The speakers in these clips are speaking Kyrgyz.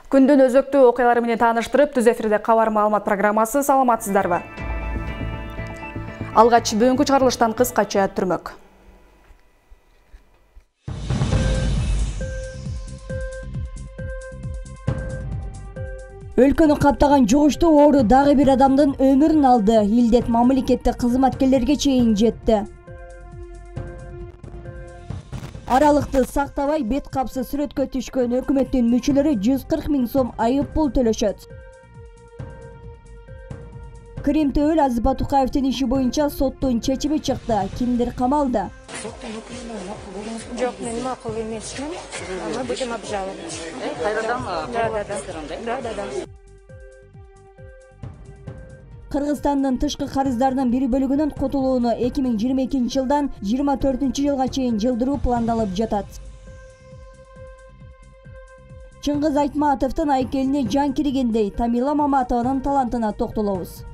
Күндүн өзөктүү окуялары менен тааныштырып, түз эфирде кабар маалымат программасы. Саламатсыздарбы? Алгач бүгүнкү чыгарылыштан кыскача түрмөк. Өлкөнү каптаган жугуштуу оору дагы бир адамдын өмүрүн алды. Илдет мамлекеттик кызматкерлерге чейин жетти. Аралыкты сактабай бет капсыз сүрөткө түшкөн өкмөттүн мүчөлөрү 140 000 сом айып пул төлөшөт. Крим Төөл Азиз Батукаевдин иши боюнча соттун чечими чыкты. Кимдир камалды? Жок, мен макул эмесмин. Мы будем обжаловать. Кайрадан? Да. Кыргызстандын тышкы карыздарынын бир бөлүгүнүн котулууну 2022 жылдан 24 жылга чейин жылдыруу пландалып жатат. Чыңгыз Айтматовдун айкелине жан киргендей Тамила Маматованын талантына токтолобуз.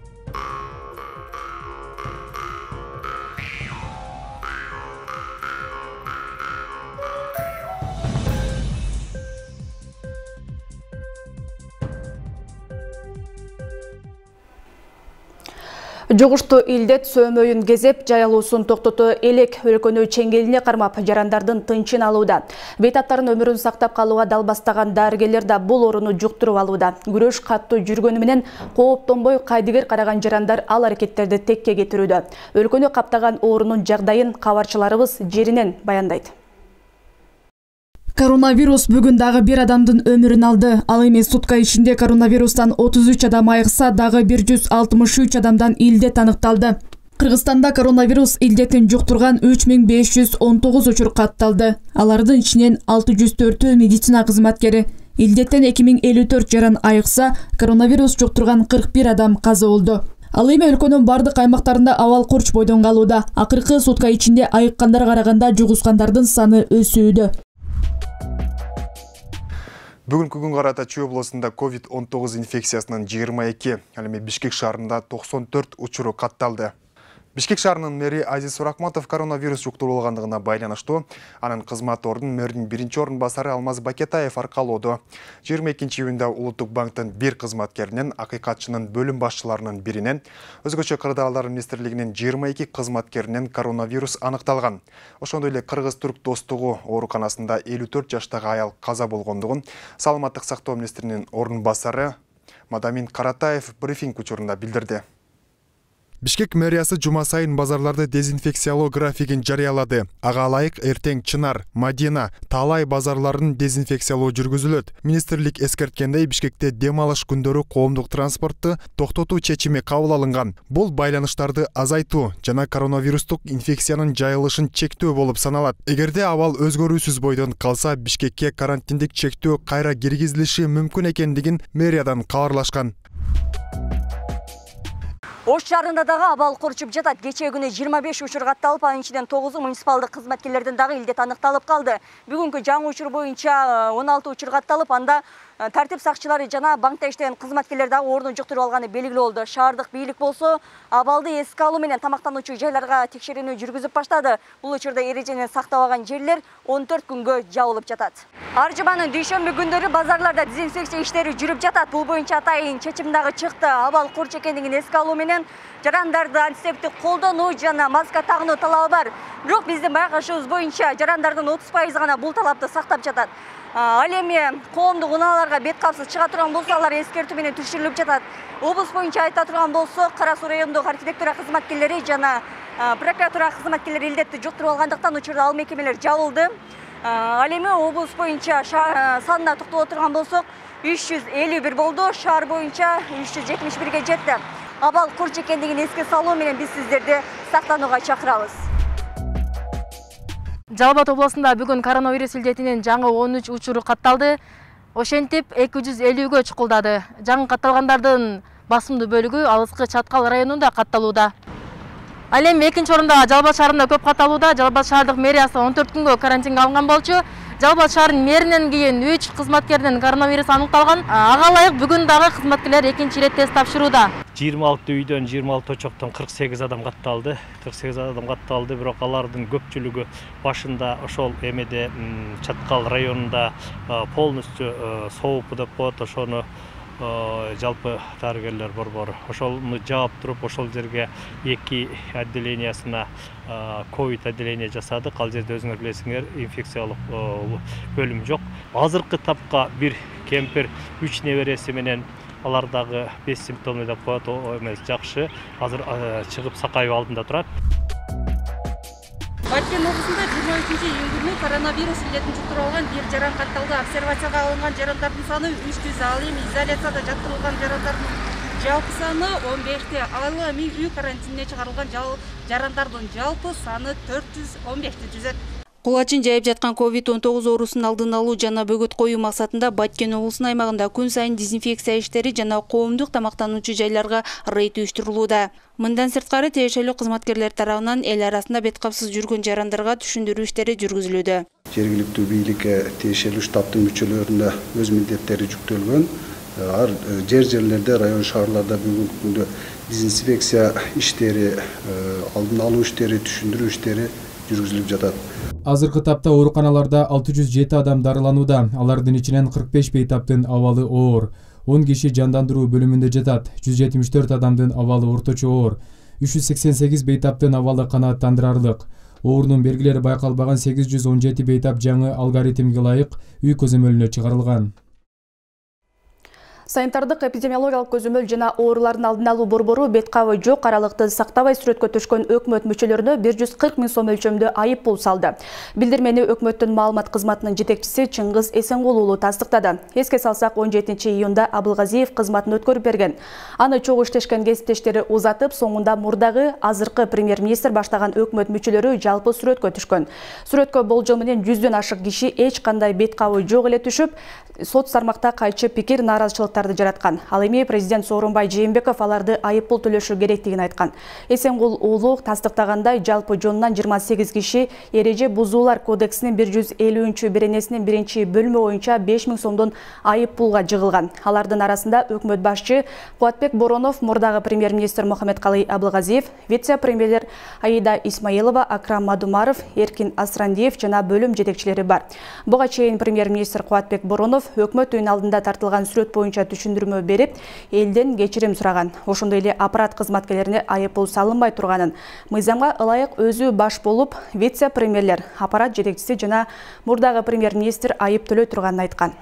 Жугуштуу илдет сөөмөйүн кезеп, жайылуусун токтото элек өлкөнү чеңгелине кармап, жарандардын тынчын алууда. Бейтаптардын өмүрүн сактап калууга далбастаган дарыгерлер да бул ооруну жуктуруп алууда. Күрөш каттуу жүргөнү менен кооптонбой кайдыгер караган жарандар ал аракеттерди текке кетирүүдө. Өлкөнү каптаган оорунун жагдайын кабарчыларыбыз жеринен баяндайт. Коронавирус бүгүн дагы бир адамдын өмүрүн алды. Ал эми сутка ичинде коронавирустан 33 адам айыкса, дагы 163 адамдан илдет аныкталды. Кыргызстанда коронавирус илдетин жуктурган 3519 учур катталды. Алардын ичинен 604 медицина кызматкери. Илдеттен 2054 жаран айыкса, коронавирус жуктурган 41 адам каза болду. Ал эми өлкөнүн бардык аймактарында абал курч бойдон калууда. Акыркы сутка ичинде айыккандар караганда жугускандардын саны өсүүдө. Бүгүнкү күнгө карата Чүй областында COVID-19 инфекциясынын 22, ал эми Бишкек шаарында 94 учуру катталды. Бишкек шаарынын мэри Азиз Суракматов коронавирус жуктурулгандыгына байланыштуу анын кызмат ордун мэрдин биринчи орун басары Алмаз Бакетаев аркалоодо. 22-июнда Улуттук банктын бир кызматкеринен, акыйкатчынын бөлүм башчыларынын биринен, өзгөчө Кырдаалдар министрлигинин 22 кызматкеринен коронавирус аныкталган. Ошондой эле Кыргыз-Түрк достугу ооруканасында 54 жаштагы аял каза болгондугун Саламаттык сактоо министринин орун басары Мадамин Каратаев брифинг учурунда билдирди. Бишкек мэриясы жума сайын базарларды дезинфекциялоо графигин жарыялады. Ага ылайык эртең Чынар, Мадина, Таалай базарларын дезинфекциялоо жүргүзүлөт. Министрлик эскерткендей, Бишкекте дем алыш күндөрү коомдук транспортту токтотуу чечими кабыл алынган. Бул байланыштарды азайтуу жана коронавирустук инфекциянын жайылышын чектөө болуп саналат. Эгерде абал өзгөрүүсүз бойдон калса, Бишкекке карантиндик чектөө кайра киргизилиши мүмкүн экендигин мэриядан кабарлашкан. Ош шаарында дагы абал курчуп жатат. Кечээ күнү 25 учур катталып, анын ичинен 9 муниципалдык кызматкерлердин дагы илдет аныкталып калды. Бүгүнкү жаңы учур боюнча 16 учур катталып, анда тартип сакчылары жана банкта иштеген кызматкерлер дагы оорууну жуктуруп алганы белгилүү болду. Шаардык бийлик болсо абалды эске алуу менен тамактануучу жайларга текшерүүнү жүргүзүп баштады. Бул учурда эрежени сактабаган жерлер 14 күнгө жабылып жатат. Ар жуманын дүйшөмбү күндөрү базарларда дезинфекция иштери жүрүп жатат. Бул боюнча атайын чечим дагы чыкты. Абал курч экендигин эске алуу менен жарандарды антисептик колдонуу жана маска тагынуу талабы бар. Бирок биздин байкашыбыз боюнча жарандардын 30% гана бул талапты сактап жатат. Ал эми коомдук унааларга бет капсыз чыга турган болсо, алар эскертүү менен түшүрүлүп жатат. Облус боюнча айта турган болсо, Кара Суу райондук архитектура кызматкерлери жана прокуратура кызматкерлери илдетти жуктуруп алгандыктан учурда ал мекемелер жабылды. Ал эми облус боюнча санына токтоло турган болсок, 351 болду, шаар боюнча 371ге жетти. Абал курч экендигин эске салуу менен биз сиздерди сактанууга чакырабыз. Жалал Абад областында бүгүн коронавирус илдетинин жаңы 13 учуру катталды. Ошентип 250гө чукулдады. Жаңы катталгандардын басымдуу бөлүгү алыскы Чаткал районунда катталууда. Ал эми экинчи орунда Жалал Абад шаарында көп катталууда. Жалал Абад шаардык мэриясы 14 күнгө карантинге алынган болчу. Жалал Абад шаарынын мэринен кийин 3 кызматкерден коронавирус аныкталган. Ага ылайык бүгүн дагы кызматкерлер экинчи ирет тест тапшырууда. 26 үйдөн 26 очоктон 48 адам катталды. 48 адам катталды, бирок алардын көпчүлүгү башында ошол эмеде Чаткал районунда полностью соопу деп коет, ошону жалпы дарыгерлер борбору ошону жаап туруп ошол жерге 2 отделениясына ковид отделение жасадык. Ал жерде өзүңөр билесиңер, инфекциялык бөлүм жок. Азыркы тапка бир кемпир 3 небереси менен алар дагы 5 симптомный деп коет, эмес жакшы. Азыр чыгып Сакаев алдында турат. Баткен облусунда 23-июнь күнү коронавирус илетин жуктуруп алган бир жаран катталды. Обсервацияга алынган жарандардын саны 300, ал эми изоляцияда жаткырылган жарандардын жалпы саны 15те. Ал эми үй карантинине чыгарылган жарандардын жалпы саны 415ти түзөт. Кулачын жайып жаткан COVID-19 оорусунун алдын алуу жана бөгөт коюу максатында Баткен облусунун аймагында күн сайын дезинфекция иштери жана коомдук тамактануучу жайларга рейд уюштурулууда. Мындан сырткары тиешелүү кызматкерлер тарабынан эл арасында бет капсыз жүргөн жарандарга түшүндүрүү иштери жүргүзүлүүдө. Жергиликтүү бийликке тиешелүү штабтын мүчөлөрүнө өз милдеттери жүктөлгөн. Ар жерлерде, район шаарларда бүгүнкү күндө дезинфекция иштери, алдын алуу иштери, түшүндүрүү иштери жүргүзүлүп жатат. Азыркы тапта ооруканаларда 607 адам дарыланууда. Алардын ичинен 45 бейтаптын абалы оор. 10 киши жандандыруу бөлүмүндө жатат. 174 адамдын абалы орточо оор. 388 бейтаптын абалы канааттандырарлык. Оорунун белгилери байкалбаган 817 бейтап жаңы алгоритмге ылайык үй көзөмөлүнө чыгарылган. Санитардык эпидемиологиялык көзөмөл жана оорулардын алдын алуу борбору бет кабы жок аралыкты сактабай сүрөткө түшкөн өкмөт мүчөлөрүнө 140 000 сом өлчөмдө айып пул салды. Билдирмени өкмөттүн маалымат кызматынын жетекчиси Чыңгыз Эсенгул уулу тастыктады. Эске салсак, 17 июнда Абылгазиев кызматын өткөрүп берген. Аны чогуу иштешкен кесиптештери узатып, соңунда мурдагы азыркы премьер-министр баштаган өкмөт мүчөлөрү жалпы сүрөткө түшкөн. Сүрөткө болжол менен 100дөн ашык киши эч кандай бет кабы жок эле түшүп, сот сармакта кайчы пикир, нааразычылыктарды жараткан. Ал эми президент Сооронбай Жээнбеков аларды айып пул төлөшү керектигин айткан. Эсенгул уулу тастыктагандай, жалпы жонунан 28 киши эреже бузуулар кодексинин 150-беренесинин 1-бөлүмү боюнча 5 000 сомдон айып пулга жыгылган. Алардын арасында өкмөт башчы Кубатбек Боронов, мурдагы премьер-министр Мухаммедкалый Абылгазиев, вице-премьерлер Аида Исмаилова, Акрам Мадумаров, Эркин Асрандиев жана бөлүм жетекчилери бар. Буга чейин премьер-министр Кубатбек Боронов өкмөт үйүнүн алдында тартылган сүрөт боюнча түшүндүрмө берип, элден кечирим сураган. Ошондой эле аппарат кызматкерлерине айып пул салынбай турганын, мыйзамга ылайык өзү баш болуп, вице-премьерлер, аппарат жетекчиси жана мурдагы премьер-министр айып төлөй турганын айткан.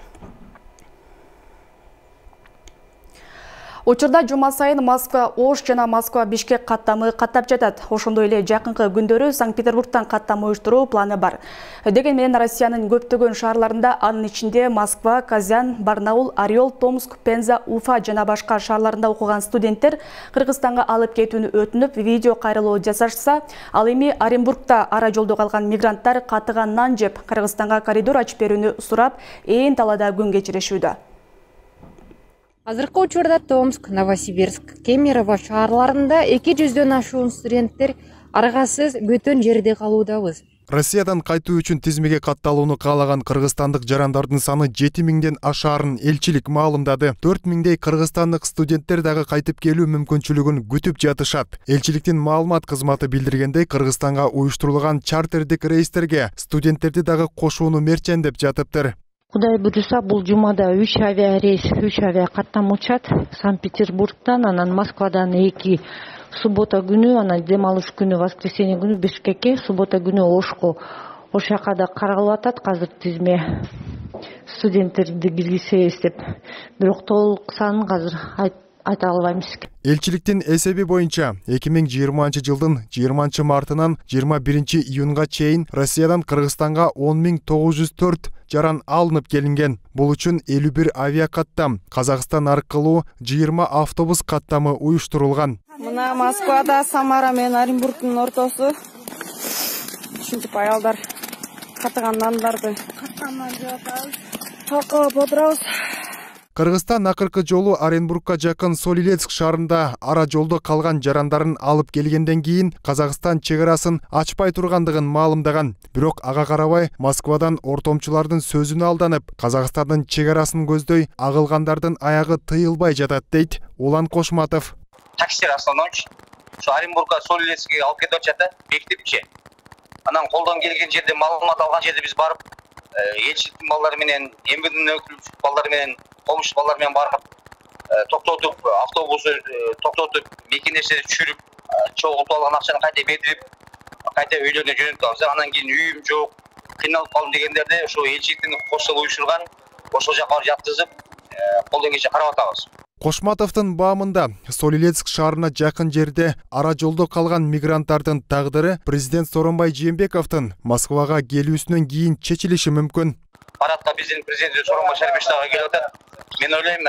Учурда жума сайын Москва-Ош жана Москва-Бишкек каттамы каттап жатат. Ошондой эле жакынкы күндөрү Санкт-Петербургтан каттама уюштуруу планы бар. Деген менен Россиянын көптөгөн шаарларында, анын ичинде Москва, Казань, Барнаул, Орел, Томск, Пенза, Уфа жана башка шаарларында окуган студенттер Кыргызстанга алып кетүүнү өтүнүп, видео кайрылуу жасашса, ал эми Оренбургда ара жолдо калган мигранттар катыган нан жеп, Кыргызстанга коридор ачып берүүнү сурап, ээн талаада күн кечирешүүдө. Азыркы учурда Томск, Новосибирск, Кемерово шаарларында 200дөн ашуун студенттер аргасыз бөтөн жерде калуудабыз. Россиядан кайтуу үчүн тизмеге катталууну каалаган кыргызстандык жарандардын саны 7000ден ашаарын элчилик маалымдады. 4000дей кыргызстандык студенттер дагы кайтып келүү мүмкүнчүлүгүн күтүп жатышат. Элчиликтин маалымат кызматы билдиргендей, Кыргызстанга уюштурулган чартердик рейстерге студенттерди дагы кошууну мерчендеп жатыптыр. Кудай буюрса, бул жумада 3 авиарейс, 3 авиа каттам учат. Санкт-Петербургтан, анан Москвадан 2, суббота күнү, анан дем алыш күнү, воскресенье күнү Бишкекке, суббота күнү Ошко. Ош жака да каралып атат казыр тизме студенттерди киргизсе деп. Бирок толук санын казыр айта албайбыз. Элчиликтин эсеби боюнча 2020-жылдын 20 мартынан 21 июнга чейин Россиядан Кыргызстанга 10.904 жаран алынып келинген. Бул үчүн 51 авиа каттам, Казакстан аркылуу 20 автобус каттамы уюштурулган. Мына Москвада Самара менен Оренбургдун ортосу. Ушинтип аялдар каттаган нандарды каттамдан жеп атабыз. Талкалап отурабыз. Кыргызстан акыркы жолу Оренбургка жакын Солилецк шаарында ара жолдо калган жарандарын алып келгенден кийин Казакстан чек арасын ачпай тургандыгын маалымдаган. Бирок ага карабай Москвадан ортомчулардын сөзүнө алданып, Казакстандын чек арасын көздөй агылгандардын аягы тыйылбай жатат дейт Улан Кошматов. Таксилер основной Оренбургка Солилецкке алып кетип атышат да, бекитипчи. Анан колдон келген жерде маалымат алган жерде биз барып, элчиликтин балдары менен, МВДнын өкүлчү балдары менен, комуш балдар менен барып, токтотуп, автобусу токтотуп, мекенештерди түшүрүп, чогултуп алган акчаны кайта берип, кайта үйлөрүнө жөнөтүп алабыз. Анан кийин үйүм жок, кыйналып калдым дегендерди ошо элчиликтин кошсол уюшурган, ошол жака барып жаткызып, колдон келишинче карап атабыз. Кошматовдун баамында Солилецк шаарына жакын жерде ара жолдо калган мигранттардын тагдыры президент Сооронбай Жээнбековдун Москвага келүүсүнөн кийин чечилиши мүмкүн. Парадка биздин президент Сооронбай Шарипович дагы келип атат. Мен ойлойм,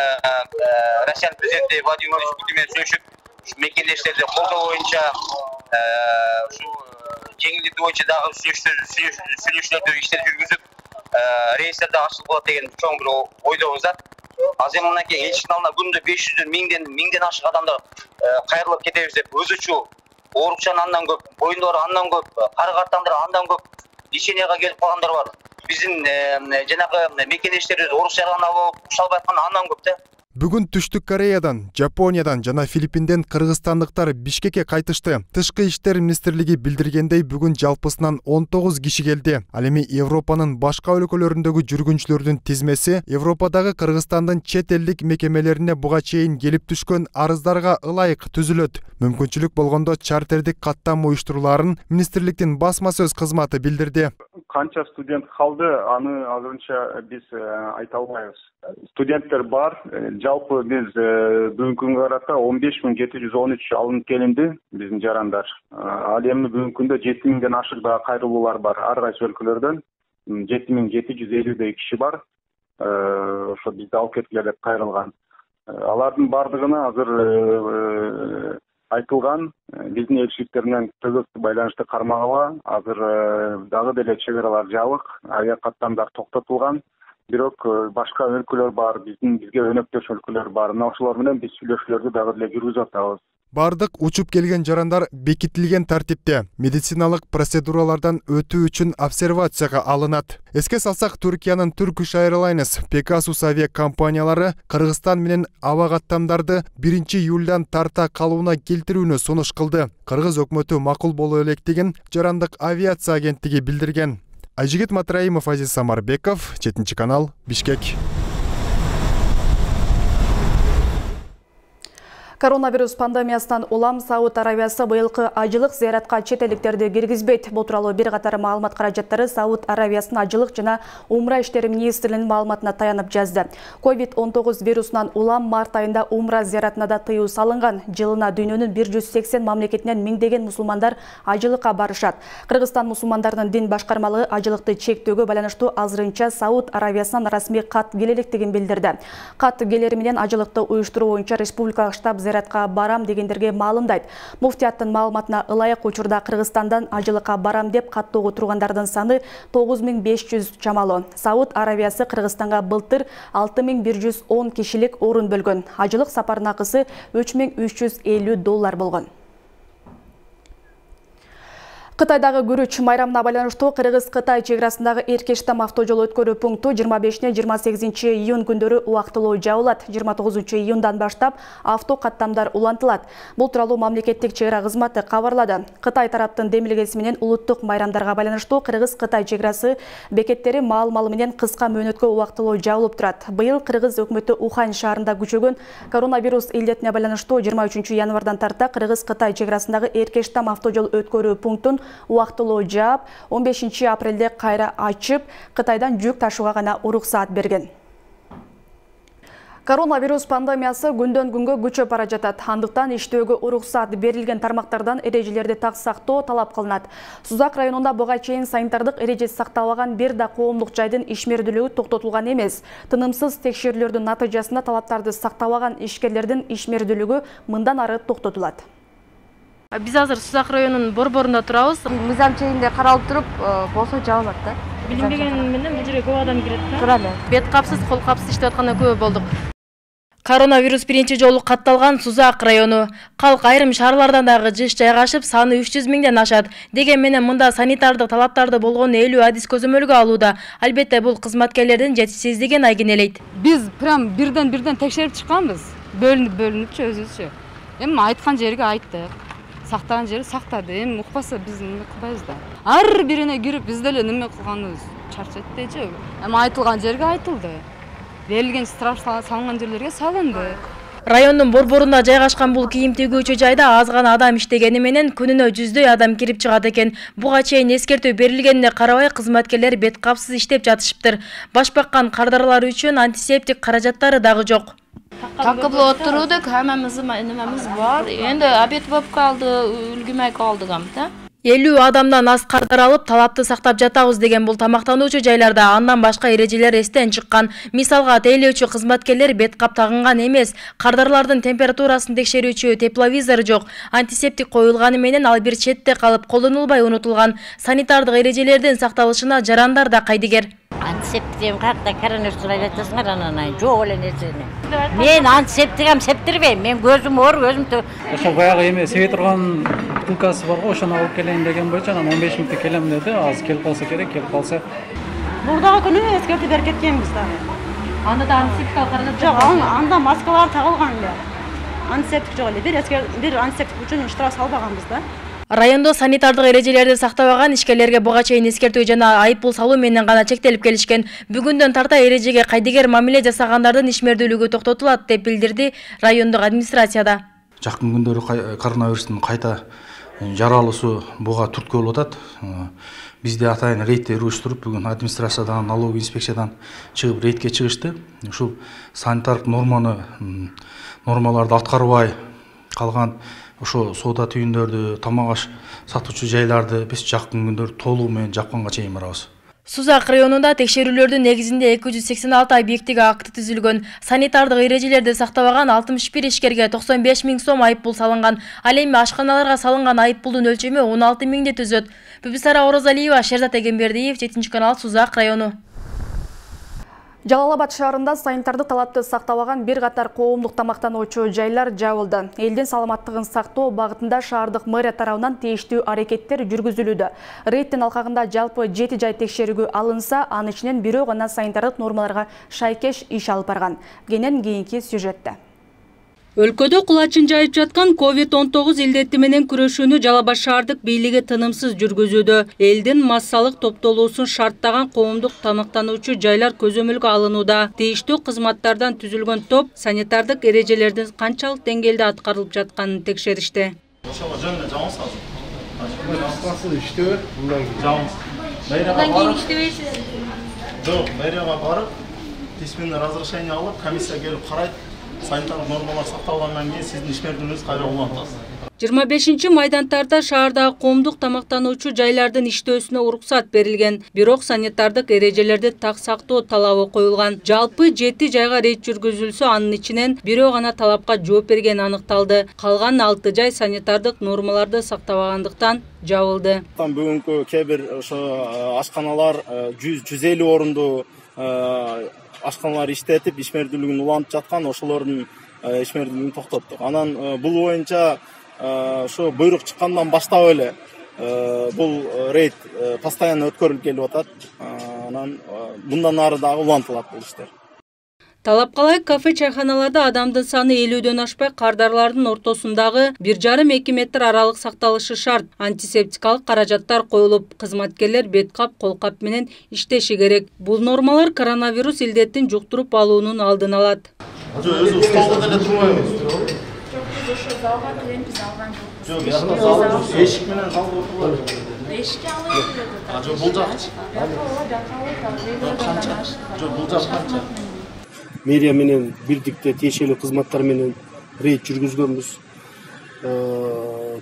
Россиянын президенти Владимир Владимирович Путин менен сүйлөшүп, ушу мекендештерди колдоо боюнча, ушу жеңилдетүү боюнча дагы сүйлөшүүлөрдү иштер жүргүзүп, рейстерди ачылып калат деген чоң бир ойдобуз да. Азыр мынакей элчиликтин алдына күндө 500 миңден ашык адамдар кайрылып кетебиз деп өзүчү оорукчан андан көп, боюндары андан көп, кары картандар андан көп, леченияга келип калгандар бар. Биздин жанагы мекендештерибиз орус жарган алып уша албай аткан андан көп да. Бүгүн Түштүк Кореядан, Жапониядан жана Филиппинден кыргызстандыктар Бишкекке кайтышты. Тышкы иштер министрлиги билдиргендей, бүгүн жалпысынан 19 киши келди. Ал эми Европанын башка өлкөлөрүндөгү жүргүнчүлөрдүн тизмеси Европадагы Кыргызстандын чет элдик мекемелерине буга чейин келип түшкөн арыздарга ылайык түзүлөт. Мүмкүнчүлүк болгондо чартердик каттам уюштуруларын министрликтин басма сөз кызматы билдирди. Канча студент калды, аны азырынча биз айта албайбыз. Студенттер бар. Жалпы биз бүгүнкү күнгө карата 15713 алынып келинди биздин жарандар. Ал эми бүгүнкү күндө 7000ден ашык да кайрылуулар бар ар кайсы өлкөлөрдөн. 7750 киши бар. Ошо бизди алып кеткиле деп кайрылган. Алардын бардыгына азыр айтылган биздин элчиликтер менен төгөктүү байланышты кармагыла. Азыр дагы деле чек аралар жабык, авиа каттамдар токтотулган. Бирок башка өлкөлөр бар, бизге өнөктөш өлкөлөр бар. Мына ошолор менен биз сүйлөшүүлөрдү дагы деле жүргүзүп атабыз. Бардык учуп келген жарандар бекитилген тартипте медициналык процедуралардан өтүү үчүн обсервацияга алынат. Эске салсак, Түркиянын Turkish Airlines, Pegasus авиа компаниялары Кыргызстан менен аба каттамдарды 1-июлдан тарта калууна келтирүүнү сунуш кылды. Кыргыз өкмөтү макул боло электигин Жарандык авиация агенттиги билдирген. Айжигит Матраимов, Азиз Самарбеков, 7 канал, Бишкек. Коронавирус пандемиясынан улам Сауд Аравиясы быйылкы ажылык зыяратка чет элдиктерди киргизбейт. Бул тууралуу бир катар маалымат каражаттары Сауд Аравиясынын ажылык жана умра иштери министрлигинин маалыматына таянып жазды. COVID-19 вирусунан улам март айында умра зыяратына да тыюу салынган. Жылына дүйнөнүн 180 мамлекетинен миңдеген мусулмандар ажылыкка барышат. Кыргызстан мусулмандарынын дин башкармалыгы ажылыкты чектөөгө байланыштуу азырынча Сауд Аравиясынан расмий кат келелектигин билдирди. Кат келери менен ажылыкты уюштуруу боюнча республикалык штаб зыяратка барам дегендерге маалымдайт. Муфтияттын маалыматына ылайык учурда Кыргызстандан ажылыкка барам деп каттоого тургандардын саны 9500 чамалуу. Сауд Аравиясы Кыргызстанга былтыр 6110 кишилик орун бөлгөн. Ажылык сапарынын акысы $3350 болгон. Кытайдагы күрүч майрамына байланыштуу Кыргыз-Кытай чек арасындагы Эркештам автожол өткөрүү пункту 25-28 июнь күндөрү убактылуу жабылат. 29 июндан баштап авто каттамдар улантылат. Бул тууралуу мамлекеттик чек ара кызматы кабарлады. Кытай тараптын демилгеси менен улуттук майрамдарга байланыштуу Кыргыз-Кытай чек арасы бекеттери маал-малы менен кыска мөөнөткө убактылуу жабылып турат. Быйыл Кыргыз өкмөтү Ухань шаарында күчөгөн коронавирус илдетине байланыштуу 23 январдан тарта Кыргыз-Кытай чек арасындагы Эркештам автожол өткөрүү пунктун убактылуу жаап, 15 апрелде кайра ачып, Кытайдан жүк ташууга гана уруксаат берген. Коронавирус пандемиясы күндөн күнгө күчөп бара жатат. Андыктан иштөөгө уруксаат берилген тармактардан эрежелерди так сактоо талап кылынат. Сузак районунда буга чейин санитардык эреже сакталбаган бир да коомдук жайдын ишмердүүлүгү токтотулган эмес. Тынымсыз текшерүүлөрдүн натыйжасында талаптарды сактабаган ишкерлердин ишмердүүлүгү мындан ары токтотулат. Биз азыр Сузак районунун борборунда турабыз. Мыйзам чегинде каралып туруп, болсо жабылат да. Билинбеген менен бул жерге көп адам кирет да. Туура эле. Бет капсыз, кол капсыз иштеп атканда көп болдук. Коронавирус биринчи жолу катталган Сузак району. Калк айрым шаарлардан дагы жыш жайгашып, саны 300 миңден ашат. Деген менен мында санитардык талаптарды болгон 50 адис көзөмөлгө алууда. Албетте бул кызматкерлердин жетишсиздигин айгинелейт. Биз прям бирден текшерип чыкканбыз. Бөлүнүпчү өзүбүзчү. Эми айткан жерге айттык. Сактаган жери сактады. Эми укпаса биз эмне кылбайбыз да. Ар бирине кирип биз деле неме кылганыбыз чарчайт дечи. Эми айтылган жерге айтылды. Берилген штраф салынган жерлерге салынды. Райондун борборунда жайгашкан бул кийим төгүүчү жайда аз гана адам иштегени менен күнүнө 100дөй адам кирип чыгат экен. Буга чейин эскертүү берилгенине карабай кызматкерлер бет капсыз иштеп жатышыптыр. Баш баккан кардарлар үчүн антисептик каражаттары дагы жок. Такып отурдук, хаммамыз немemiz бар. Эndi обед болуп калды, үлгүмөй калдык да. 50 адамдан аз кардар алып, талапты сактап жатабыз деген бул тамактануучу жайларда андан башка эрежелер эстен чыккан. Мисалга, тейлөөчү кызматкерлер бет кап тагынган эмес, кардарлардын температурасын текшерүүчү тепловизор жок, антисептик коюлганы менен ал бир четте калып колдонулбай унутулган. Санитардык эрежелердин сакталышына жарандар да кайдыгер. Антисептик какта коронавирус айтасыңар анан жок эле нерсени. Мен антисептик септирбейм. Мен көзүм ооруп, өзүм ошо баягы эме себе турган бутылкасы барго, ошону алып келейин деген боюнча анан 15 мүнөттө келем деди. Азыр келип калса керек, келип калса. Мурдагы күнү эскертип берип кеткенбиз да. Анда да антисептик каражат жок, анда маскалар тагылган эле. Антисептик жок эле. Бир антисептик үчүн штраф салбаганбыз да. Райондо санитардык эрежелерди сактабаган ишкерлерге буга чейин эскертүү жана айыппул салуу менен гана чектелип келишкен. Бүгүндөн тарта эрежеге кайдыгер мамиле жасагандардын ишмердүүлүгү токтотулат деп билдирди райондук администрацияда. Жакын күндөрү коронавирустун кайта жаралуусу буга түрткү болуп атат. Бизде атайын рейдтер уюштуруп, бүгүн администрациядан, налоговый инспекциядан чыгып рейдке чыгышты. Ушул санитардык нормаларды аткарбай калган ошо соода түйүндөрдү, тамак аш сатуучу жайларды биз жакын күндөр толугу менен жапканга чейин барабыз. Сузак районунда текшерүүлөрдүн негизинде 286 объектиге акты түзүлгөн. Санитардык эрежелерди сактабаган 61 ишкерге 95 миң сом айыппул салынган. Ал эми ашканаларга салынган айыппулдун өлчөмү 16 миңди түзөт. Бүбүсара Орозалиева, Шерзат Эгембердиев, 7 канал, Сузак району. Жалал-Абад шаарында санитардык талапты сактабаган бир катар коомдук тамактануучу жайлар жабылды. Элдин саламаттыгын сактоо багытында шаардык мэрия тарабынан тийиштүү аракеттер жүргүзүлүүдө. Рейдтин алкагында жалпы 7 жай текшерүүгө алынса, анын ичинен бирөө гана санитардык нормаларга шайкеш иш алып барган. Кенен кийинки сюжетте. Өлкөдө кулачын жайып жаткан COVID-19 илдети менен күрөшүүнү Жалал-Абад шаардык бийлиги тынымсыз жүргүзүүдө. Элдин массалык топтолуусун шарттаган коомдук тамактануучу жайлар көзөмөлгө алынууда. Тийиштүү кызматтардан түзүлгөн топ санитардык эрежелердин канчалык деңгээлде аткарылып жатканын текшеришти. Ошого жөнүндө жабыңыз азыр. Башкасы иштөө, мындан кийин иштебейсиз. Жок, мэрияга барып, письменный разрешение алып, комиссия келип карайт. Санитарлык нормалар сакталгандан кийин сиздин ишмердүүлүгүңүз кайра улантат. 25 майдантарда шаардагы коомдук тамактануучу жайлардын иштөөсүнө уруксат берилген. Бирок санитардык эрежелерди так сактоо талабы коюлган. Жалпы 7 жайга рейд жүргүзүлсө, анын ичинен бирөө гана талапка жооп берген аныкталды. Калган 6 жай санитардык нормаларды сактабагандыктан жабылды. Бүгүнкү кээ бир ошо ашканалар 150 орунду ашканалар иштетип, ишмердүүлүгүн улантып жаткан, ошолордун ишмердүүлүгүн токтоттук. Анан бул боюнча ошо буйрук чыккандан баштап эле бул рейд постоянно өткөрүлүп келип атат. Анан мындан ары дагы улантылат бул иштер. Талапка ылайык кафе чайханаларда адамдын саны 50дөн ашпай, кардарлардын ортосундагы 1,5-2 метр аралык сакталышы шарт. Антисептикалык каражаттар коюлуп, кызматкерлер бет кап, кол кап менен иштеши керек. Бул нормалар коронавирус илдетин жуктуруп алуунун алдын алат. Өзү столдо деле турбайбыз. Ошо залга киремиз, алган жокпуз. Эшик менен залга отурбайбыз. Эшикке алып Жок, бул жакчы. Жок, бул жак канча? Мэрия менен бирдикте тиешелүү кызматтар менен рейд жүргүзгөнбүз.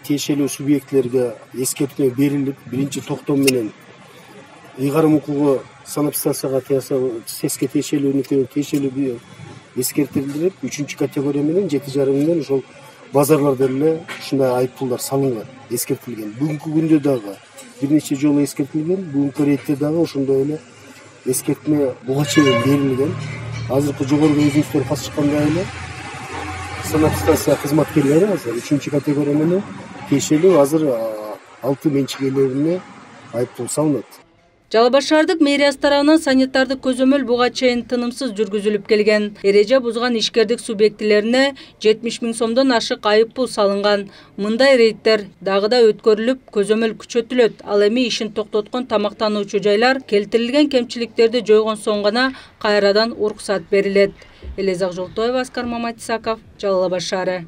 Тиешелүү субъектлерге эскертүү берилип, биринчи токтом менен ыйгарым укугу санэпидстанцияга СЭСке тиешелүү эскертилип, 3 категория менен 7,5 миңден ошол базарларда эле ушундай айыппулдар салынган, эскертилген. Бүгүнкү күндө дагы бир нече жолу эскертилген, бүгүнкү рейдте дагы ошондой эле эскертме буга чейин берилген. Азыркы жогорку өзүңүздөр басышкандай эле санэпидстанция кызматкерлери азыр 3-категория менен тиешелүү азыр 6 менчик ээлерине айыппул салынат. Жалал Абад шаардык мэриясы тарабынан санитардык көзөмөл буга чейин тынымсыз жүргүзүлүп келген. Эреже бузган ишкердик субъектилерине 70 000 сомдон ашык айыппул салынган. Мындай рейдтер дагы да өткөрүлүп, көзөмөл күчөтүлөт. Ал эми ишин токтоткон тамактануучу жайлар келтирилген кемчиликтерди жойгон соң гана кайрадан уруксат берилет. Элизак Жолтоева, Аскар Маматисаков, Жалал Абад шаары.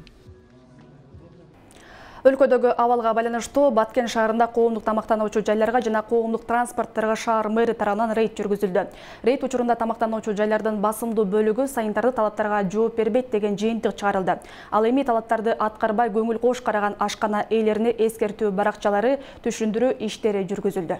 Өлкөдөгү абалга байланыштуу Баткен шаарында коомдук тамактануучу жайларга жана коомдук транспортторго шаар мэри тарабынан рейд жүргүзүлдү. Рейд учурунда тамактануучу жайлардын басымдуу бөлүгү санитардык талаптарга жооп бербейт деген жыйынтык чыгарылды. Ал эми талаптарды аткарбай көңүл кош караган ашкана ээлерине эскертүү баракчалары түшүндүрүү иштери жүргүзүлдү.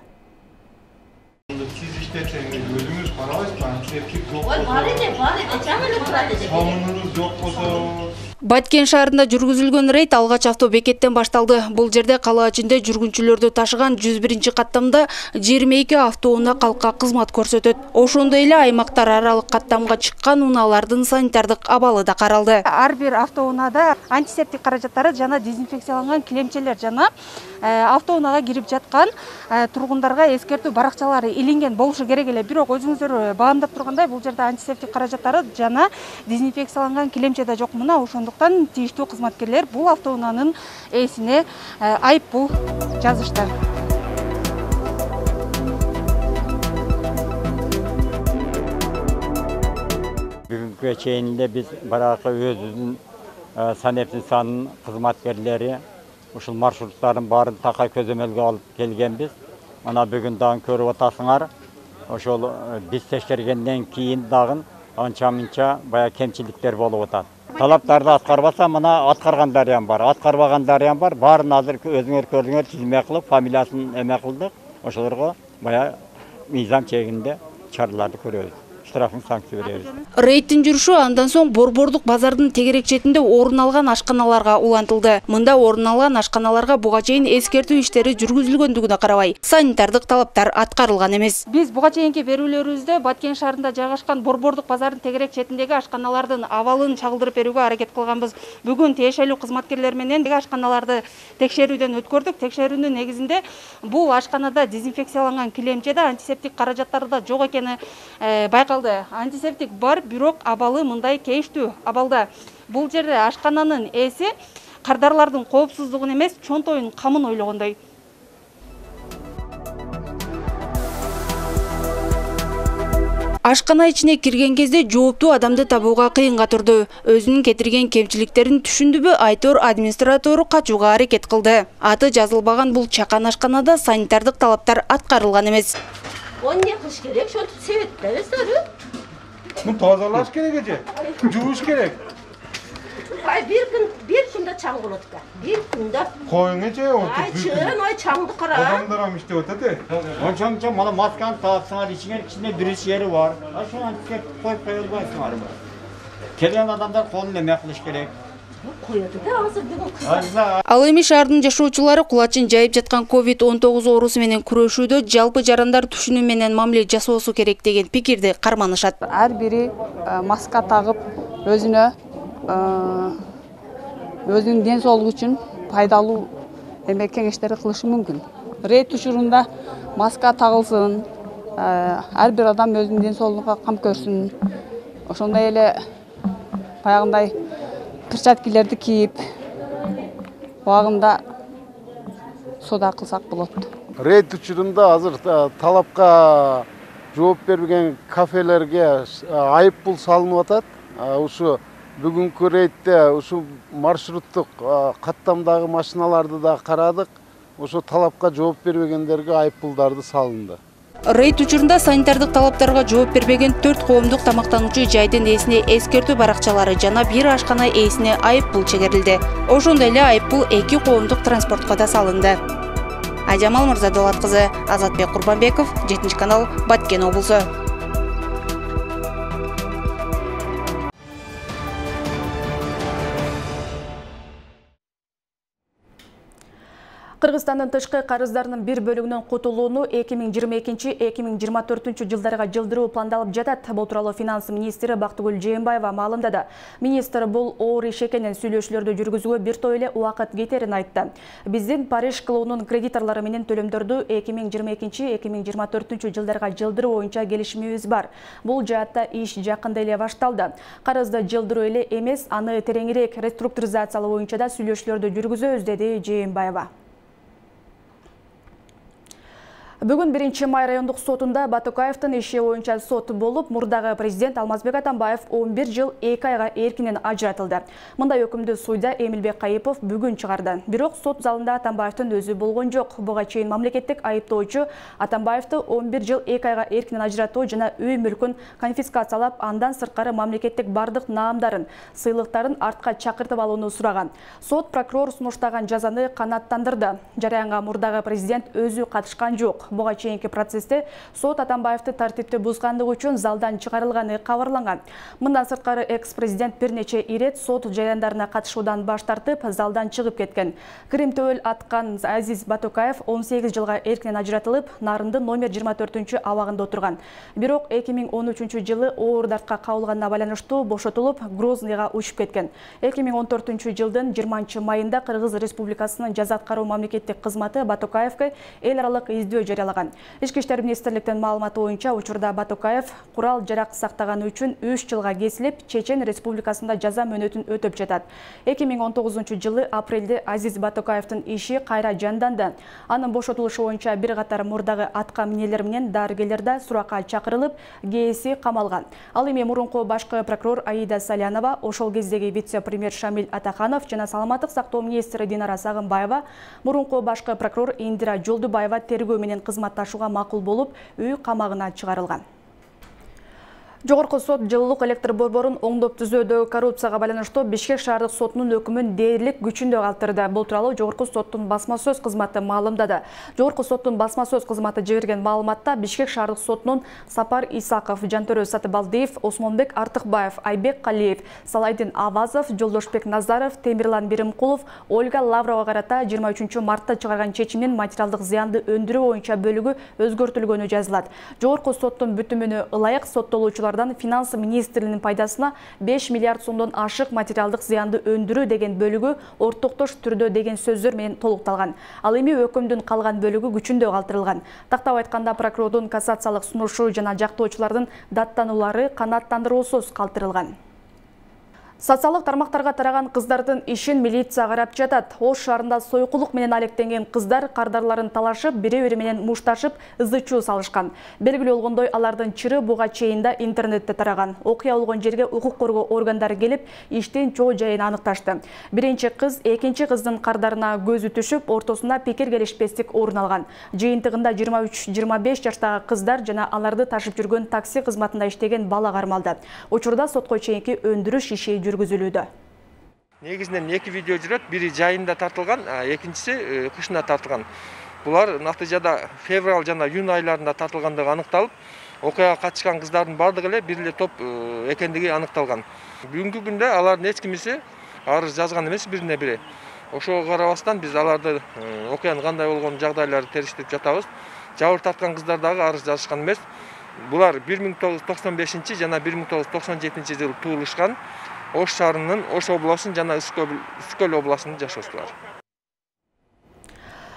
Баткен шаарында жүргүзүлгөн рейд алгач автобекеттен башталды. Бул жерде кала ичинде жүргүнчүлөрдү ташыган 101-каттамда 22 автоунаа калкка кызмат көрсөтөт. Ошондой эле аймактар аралык каттамга чыккан унаалардын санитардык абалы да каралды. Ар бир автоунаада антисептик каражаттары жана дезинфекцияланган килемчелер жана автоунаага кирип жаткан тургундарга эскертүү баракчалары илинген болушу керек эле. Бирок өзүңүздөр баамдап тургандай, бул жерде антисептик каражаттары жана дезинфекцияланган килемче да жок. Мына ошондуктан тийиштүү кызматкерлер бул автоунаанын ээсине айыппул жазышты. Бүгүнкү чейинде биз баракы өзүбүздүн санэпидстанциянын кызматкерлери ушул маршруттардын баарын такай көзөмөлгө алып келгенбиз. Мына бүгүн дагы көрүп атасыңар. Ошол биз текшергенден кийин дагы анча-мынча бая кемчиликтер болуп атат. Талаптарды аткарбаса, мына аткаргандар бар, аткарбагандар бар. Баарын азыр өзүңөр көрдүңөр, тизме кылып, фамилиясын эме кылдык. Ошолорго бая мыйзам чегинде чараларды көрөбүз. Штрафын санкция беребиз. Рейдтин жүрүшү андан соң Борбордук базардын тегерек четинде орун алган ашканаларга улантылды. Мында орун алган ашканаларга буга чейин эскертүү иштери жүргүзүлгөндүгүнө карабай, санитардык талаптар аткарылган эмес. Биз буга чейинки берүүлөрүбүздө Баткен шаарында жайгашкан Борбордук базардын тегерек четиндеги ашканалардын абалын чагылдырып берүүгө аракет кылганбыз. Бүгүн тиешелүү кызматкерлер менен ашканаларды текшерүүдөн өткөрдүк. Текшерүүнүн негизинде бул ашканада дезинфекцияланган килемчеде антисептик каражаттары да жок экени байкалды. Антисептик бар, бирок абалы мындай кейиштүү абалда. Бул жерде ашкананын ээси кардарлардын коопсуздугун эмес, чонтоюн камын ойлогондой. Ашкана ичине кирген кезде жооптуу адамды табууга кыйынга турду. Өзүнүн кетирген кемчиликтерин түшүндүбү, айтор администратору качууга аракет кылды. Аты жазылбаган бул чакан ашканада санитардык талаптар аткарылган эмес. Он не кылыш керек, шонтип себеттер сары. Муну тазалаш керек эже. Жууш керек. Ай бир күндө чаң болот экен. Бир күндө. Коюң эже, Ай чын, ай чаңды кара. Адамдар ам иштеп атат. Онча мана масканы таапсаңар, ичине бириш жери бар. Ошону антисептик коюп кое албайсыңар. Келген адамдар колун эме кылыш керек. Ал эми шаардын жашоочулары кулачын жайып жаткан COVID-19 оорусу менен күрөшүүдө жалпы жарандар түшүнүү менен мамиле жасоосу керек деген пикирди карманышат. Ар бири маска тагып, өзүнүн ден соолугу үчүн пайдалуу эме кеңештерди кылышы мүмкүн. Рейд учурунда маска тагылсын, ар бир адам өзүнүн ден соолугуна кам көрсүн. Ошондой эле баягындай перчаткилерди кийип, убагында сода кылсак болот. Рейд учурунда азыр талапка жооп бербеген кафелерге айыппул салынып атат. Ушу бүгүнкү рейдте ушу маршруттук каттамдагы машиналарды да карадык. Ошо талапка жооп бербегендерге айыппулдарды салынды. Рейд учурунда санитардык талаптарга жооп бербеген 4 коомдук тамактануучу жайдын ээсине эскертүү баракчалары жана бир ашкана ээсине айыппул чегерилди. Ошондой эле айыппул 2 коомдук транспортко да салынды. Айжамал Мырзадолат кызы, Азатбек Курбанбеков, 7-канал, Баткен облусу. Кыргызстандын тышкы карыздарынын бир бөлүгүнөн кутулууну 2022-2024 жылдарга жылдыруу пландалып жатат. Бул тууралуу финанс министри Бактыгүл Жээнбаева маалымдады. Министр бул оор иш экенин, сүйлөшүүлөрдү жүргүзүүгө бир топ эле убакыт кетерин айтты. Биздин Париж клубунун кредиторлору менен төлөмдөрдү 2022-2024 жылдарга жылдыруу боюнча келишимибиз бар. Бул жаатта иш жакында эле башталды. Карызды жылдыруу эле эмес, аны тереңирээк реструктуризациялоо боюнча да сүйлөшүүлөрдү жүргүзөбүз, деди Жээнбаева. Бүгүн 1-май райондук сотунда Батукаевдин иши боюнча сот болуп, мурдагы президент Алмазбек Атамбаев 11 жыл 2 айга эркинен ажыратылды. Мындай өкүмдү суйда Эмилбек Кайыпов бүгүн чыгарды. Бирок сот залында Атамбаевдин өзү болгон жок. Буга чейин мамлекеттик айыптоочу Атамбаевди 11 жыл 2 айга эркинен ажыратуу жана үй мүлкүн конфискациялап, андан сырткары мамлекеттик бардык наамдарын, сыйлыктарын артка чакыртып алууну сураган. Сот прокурор сунуштаган жазаны канааттандырды. Жараянга мурдагы президент өзү катышкан жок. Буга чейинки процессте сот Атамбаевди тартипти бузгандыгы үчүн залдан чыгарылганы кабарланган. Мындан сырткары экс-президент бир нече ирет сот жарандарына катышуудан баш тартып, залдан чыгып кеткен. Кирим төбөл аткан Азиз Батукаев 18 жылга эркинен ажыратылып, Нарындын номер 24 абагында отурган. Бирок 2013 жылы оор дартка кабылганына байланыштуу бошотулуп, Грозныйга учуп кеткен. 2014 жылдын 20 майында Кыргыз Республикасынын жаза аткаруу мамлекеттик кызматы Батукаевге эл аралык издөө жарыялаган. Ички иштер министрликтин маалыматы боюнча, учурда Батукаев курал-жарак сактаганы үчүн 3 жылга кесилип, Чечен Республикасында жаза мөөнөтүн өтөп жатат. 2019 жылы апрелде Азиз Батукаевдин иши кайра жанданды. Анын бошотулушу боюнча бир катар мурдагы атка минелер менен дарыгерлер да суракка чакырылып, кээси камалган. Ал эми мурунку башкы прокурор Аида Салянова, ошол кездеги вице-премьер Шамил Атаханов жана саламаттык сактоо министри Динара Сагынбаева, мурунку башкы прокурор Индира Жолдубаева тергөө менен кызматташууга макул болуп, үй камагына чыгарылган. Жогорку сот жылуулук электр борборун оңдоп түзүүдөгү коррупцияга байланыштуу Бишкек шаардык сотунун өкүмүн дээрлик күчүндө калтырды. Бул тууралуу Жогорку соттун басма сөз кызматы маалымдады. Жогорку соттун басма сөз кызматы жиберген маалыматта Бишкек шаардык сотунун Сапар Исаков, Жантөрө Сатыбалдиев, Осмонбек Артыкбаев, Айбек Калиев, Салайдин Авазов, Жолдошбек Назаров, Темирлан Биримкулов, Ольга Лаврова карата 23 мартта чыгарган чечимдин материалдык зыянды өндүрүү боюнча бөлүгү өзгөртүлгөнү жазылат. Жогорку соттун бүтүмүнө ылайык соттолуучулар финанс министрлигинин пайдасына 5 миллиард сомдон ашык материалдык зыянды өндүрүү деген бөлүгү ортоктош түрдө деген сөздөр менен толукталган. Ал эми өкүмдүн калган бөлүгү күчүндө калтырылган. Тактап айтканда прокурордун кассациялык сунушу жана жактоочулардын даттануулары канааттандыруусуз калтырылган. Социалдык тармактарга тараган кыздардын ишин милиция карап жатат. Ош шаарында сойкулук менен алектенген кыздар кардарларын талашып, бири-бири менен мушташып, ызы-чуу салышкан. Белгилүү болгондой, алардын чыры буга чейин да интернетте тараган. Окуя болгон жерге укук коргоо органдары келип, иштин чоо жайын аныкташты. Биринчи кыз экинчи кыздын кардарына көзү түшүп, ортосунда пикир келишпестик орун алган. Жыйынтыгында 23-25 жаштагы кыздар жана аларды ташып жүргөн такси кызматында иштеген бала кармалды. Учурда сотко чейинки өндүрүш иши жүргүзүлүүдө. Негизинен 2 видео жүрөт, бири жайында тартылган, экинчиси кышында тартылган. Булар натыйжада февраль жана июнь айларында тартылгандыгы аныкталып, окуяга катышкан кыздардын бардыгы эле бир эле топ экендиги аныкталган. Бүгүнкү күндө алардын эч кимиси арыз жазган эмес бирине бири. Ошого карабастан биз аларды окуянын кандай болгон жагдайларды териштирип жатабыз. Жабыр тарткан кыздар дагы арыз жазышкан эмес. Булар 1995 жана 1997 жылы туулушкан. Ош шаарынын Ош областынын жана Үскөл областынын жашоочулары.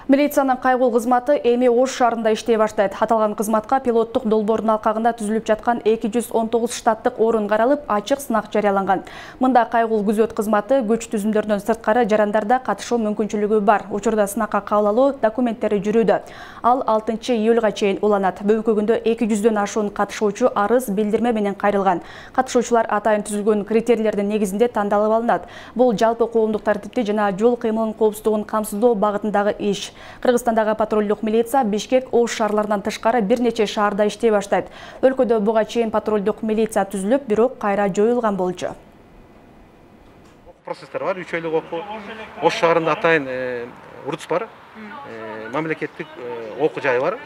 Милициянын кайгыл кызматы эми Ош шаарында иштей баштайт. Аталган кызматка пилоттук долбоордун алкагында түзүлүп жаткан 219 штаттык орун каралып, ачык сынак жарыяланган. Мында кайгыл күзөт кызматы көч түзүмдөрдөн сырткары жарандарда катышуу мүмкүнчүлүгү бар. Учурда сынакка кабыл алуу документтери жүрүүдө. Ал 6 июлга чейин уланат. Бүгүнкү күндө 200дөн ашуун катышуучу арыз билдирме менен кайрылган. Катышуучулар атайын түзүлгөн критерийлердин негизинде тандалып алынат. Бул жалпы коомдук тартипти жана жол кыймылынын коопсуздугун камсыздоо багытындагы иш. Кыргызстандагы патрулдук милиция Бишкек, Ош шаарларынан тышкары бир нече шаарда иштей баштайт. Өлкөдө буга чейин патрулдук милиция түзүлүп, бирок кайра жоюлган болчу. Процесстер бар, 3 айлык окуу. Ош шаарында атайын УРЦ бар. Мамлекеттик окуу жайы бар.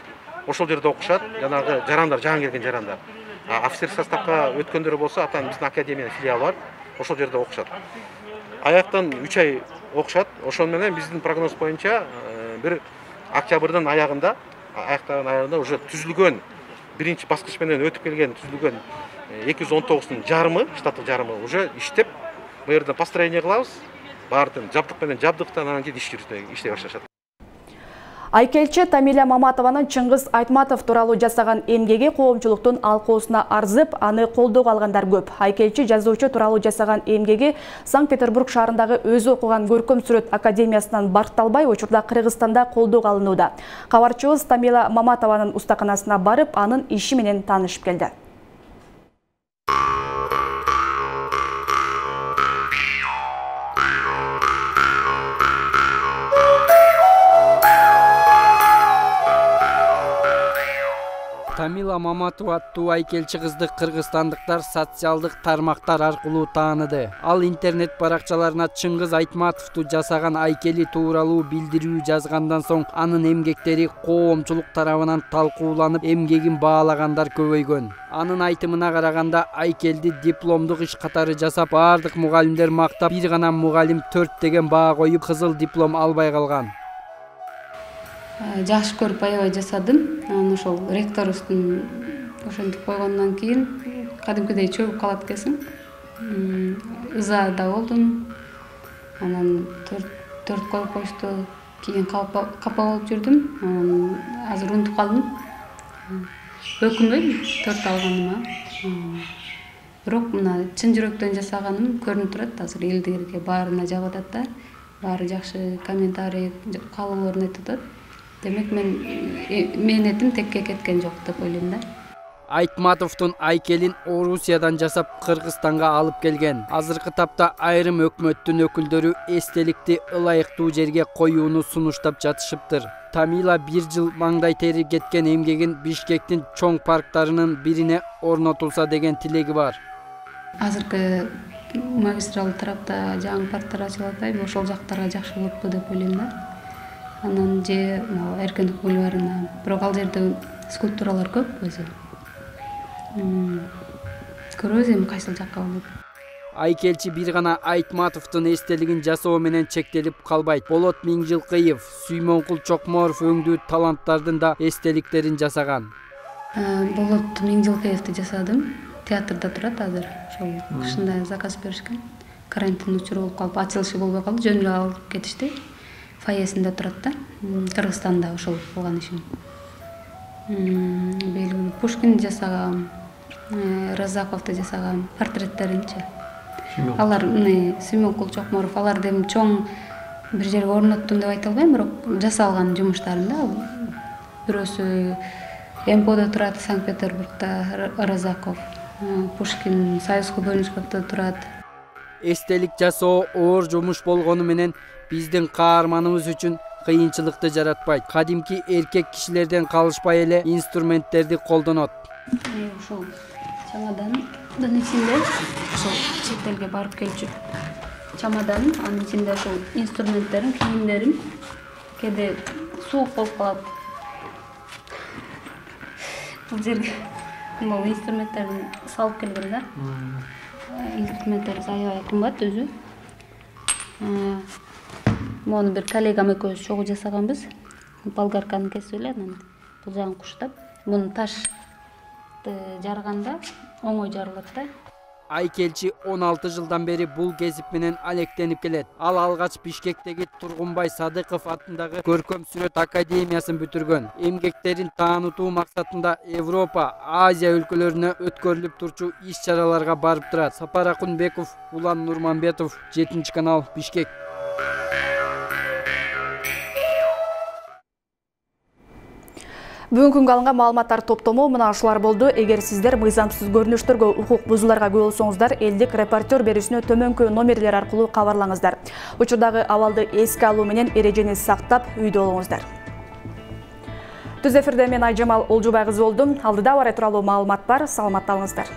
Ошол жерде окушат. Жанагы жарандар, жаңы келген жарандар. Офицер составка өткөндөр болсо, атайын биздин академиянын филиалы бар. Ошол жерде окушат. Аяктан 3 ай окушат. Ошол менен биздин прогноз боюнча бир октябрдын аяктаган аягында уже түзүлгөн биринчи баскыч менен өтүп келген түзүлгөн 219-тун жарымы, штаттык жарымы уже иштеп, бу жерден построение кылабыз. Баардыгын жабдык менен жабдыктан анан кийин иштей башташат. Айкелчи Тамила Маматованын Чыңгыз Айтматов тууралуу жасаган эмгеги коомчулуктун алкоосуна арзып, аны колдоого алгандар көп. Айкелчи жазуучу тууралуу жасаган эмгеги Санкт-Петербург шаарындагы өзү окуган көркөм сүрөт академиясынан барталбай, учурда Кыргызстанда колдоого алынууда. Кабарчыбыз Тамила Маматованын устаканасына барып, анын иши менен таанышып келди. Тамила Маматова аттуу айкелчи кызды кыргызстандыктар социалдык тармактар аркылуу тааныды. Ал интернет баракчаларына Чыңгыз Айтматовду жасаган айкели тууралуу билдирүү жазгандан соң анын эмгектери коомчулук тарабынан талкууланып, эмгегин баалагандар көбөйгөн. Анын айтымына караганда айкелди дипломдук иш катары жасап, баардык мугалимдер мактап, бир гана мугалим 4 деген баа коюп, кызыл диплом албай калган. Жакшы көрүп аябай жасадым. Анан ошол ректорубуздун ошентип койгондон кийин кадимкидей чөгүп калат экенсиң. Ыза да болдум. Анан 4 коюп коюшту. Кийин капа болуп жүрдүм. Анан азыр унутуп калдым. Өкүнбөйм 4 алганыма. Бирок мына чын жүрөктөн жасаганым көрүнүп турат. Азыр элдерге баарына жагып атат да. Баары жакшы комментарий, каалоолорун айтып атат. Демек мен этим текке кеткен жок деп ойлойм да. Айтматовдун айкелин Орусиядан жасап Кыргызстанга алып келген. Азыркы тапта айрым өкмөттүн өкүлдөрү эстеликти ылайыктуу жерге коюуну сунуштап жатышыптыр. Тамила 1 жыл маңдай тери кеткен эмгегин Бишкектин чоң парктарынын бирине орнотулса деген тилеги бар. Азыркы магистрал тарапта жаңы парктар ачылып атпайбы, ошол жактарга жакшы болупту деп ойлойм да. Анан же Эркиндик бульварына, бирок ал жерде скульптуралар көп өзү. Көрөбүз эми кайсыл жакка болот. Айкелчи бир гана Айтматовдун эстелигин жасоо менен чектелип калбайт. Болот Миңжилкыев, Сүймөнкул Чокморов өңдүү таланттардын да эстеликтерин жасаган. Болот Миңжилкыевди жасадым. Театрда турат азыр. Ошол кышында заказ беришкен. Карантин учуру болуп калып, ачылышы болбой калды, жөн эле алып кетишти. Фаесинде турат да, Кыргызстанда ошол болгон ишим. Пушкин жасаган, Разаковду жасаган портреттеринчи. Алар Сүймөнкул Чокморов, аларды эми чоң бир жерге орноттум деп айта албайм, бирок жасалган жумуштарым да. Бирөөсү МПОдо турат, Санкт-Петербургда Разаков, Пушкин Союзкой бөлүнүшкөктө турат. Эстелик жасоо оор жумуш болгону менен биздин каарманыбыз үчүн кыйынчылыкты жаратпайт. Кадимки эркек кишилерден калышпай эле инструменттерди колдонот. Ошол чамадандын ичинде ошол чет элге барып келчү чамадан, анын ичинде ошол инструменттерим, кийимдерим, кээде суук болуп калат. Бул жерге бул инструменттерди салып келген да. Инструменттер аябай кымбат өзү. Мону бир коллегам экөөбүз чогуу жасаганбыз. Болгарканы кесип эле анан бул жагын куштап, муну ташты жарганда оңой жарылат да. Айкелчи 16 жылдан бери бул кесип менен алектенип келет. Ал алгач Бишкектеги Тургунбай Садыков атындагы көркөм сүрөт академиясын бүтүргөн. Эмгектерин таанытуу максатында Европа, Азия өлкөлөрүнө өткөрүлүп турчу иш-чараларга барып турат. Сапар Акунбеков, Улан Нурманбетов, 7-канал, Бишкек. Бүгүнкү күнгө алынган маалыматтар топтому мына ушулар болду. Эгер сиздер мыйзамсыз көрүнүштөргө, укук бузууларга күбө болсоңуздар, элдик репортер берүүсүнө төмөнкү номерлер аркылуу кабарлаңыздар. Учурдагы абалды эске алуу менен эрежени сактап үйдө болуңуздар. Түз эфирде мен Айжамал Олжубай кызы болдум. Алдыда бар тууралуу маалымат бар. Саламатта болуңуздар.